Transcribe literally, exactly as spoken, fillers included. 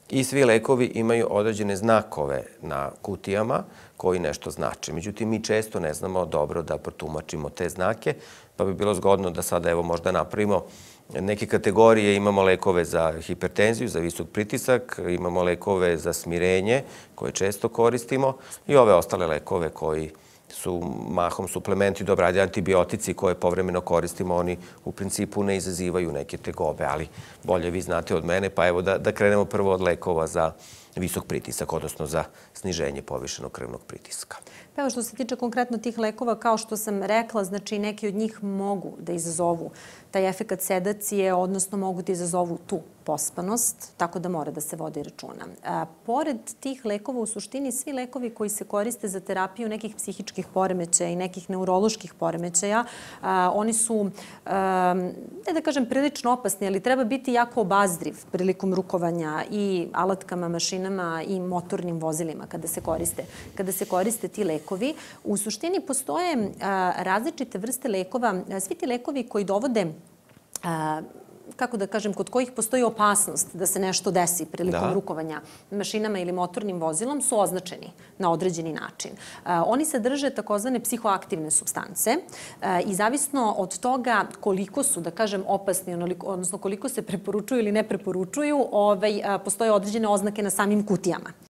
I svi lekovi imaju određene znakove na kutijama koji nešto znače. Međutim, mi često ne znamo dobro da protumačimo te znake, pa bi bilo zgodno da sada evo možda napravimo neke kategorije. Imamo lekove za hipertenziju, za visok pritisak, imamo lekove za smirenje koje često koristimo i ove ostale lekove koji su mahom suplementi, dobro, radi antibiotici koje povremeno koristimo, oni u principu ne izazivaju neke tegobe, ali bolje vi znate od mene, pa evo da, da krenemo prvo od lekova za visok pritisak, odnosno za sniženje povišenog krvnog pritiska. Pa evo što se tiče konkretno tih lekova, kao što sam rekla, znači neki od njih mogu da izazovu taj efekat sedacije, odnosno mogu da izazovu tu pospanost, tako da mora da se vodi računa. A, pored tih lekova, u suštini, svi lekovi koji se koriste za terapiju nekih psihičkih poremećaja i nekih neuroloških poremećaja, a, oni su, a, ne da kažem, prilično opasni, ali treba biti jako obazriv prilikom rukovanja i alatkama, mašinama i motornim vozilima kada se koriste, kada se koriste ti lekovi. U suštini postoje a, različite vrste lekova. Svi ti lekovi koji dovode a, kako da kažem, kod kojih postoji opasnost da se nešto desi prilikom rukovanja mašinama ili motornim vozilom, su označeni na određeni način. Oni sadrže takozvane psihoaktivne supstance i zavisno od toga koliko su, da kažem, opasni, odnosno koliko se preporučuju ili ne preporučuju, postoje određene oznake na samim kutijama.